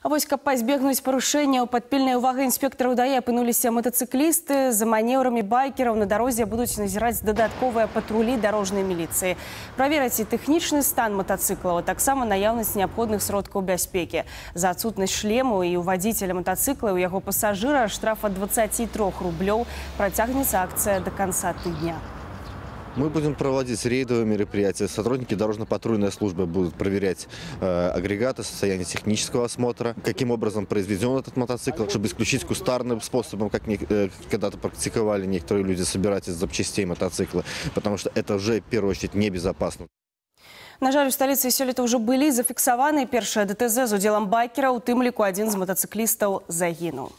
А вось, каб пазбегнуць парушэнняў, пад пільнай увагай інспектараў ДАІ апынуліся матацыклісты. За манеўрамі байкераў на дарозе будуць назіраць дадатковыя патрулі дарожнай міліцыі. Правераць і тэхнічны стан матацыклаў, а таксама наяўнасць неабходных сродкаў бяспекі. За адсутнасць шлему і у вадзіцеля матацыкла і у яго пасажыра штраф ад 23 рублёў. Працягнецца акцыя до конца тыдня. Мы будем проводить рейдовые мероприятия. Сотрудники дорожно-патрульной службы будут проверять агрегаты, состояние технического осмотра, каким образом произведен этот мотоцикл, чтобы исключить кустарным способом, как когда-то практиковали некоторые люди, собирать из запчастей мотоцикла, потому что это уже, в первую очередь, небезопасно. На жаль, у сталіцы сёлета ўжо былі зафіксаваны першыя ДТЗ з удзелам байкера, у тым ліку адзін з матацыклістаў загінуў.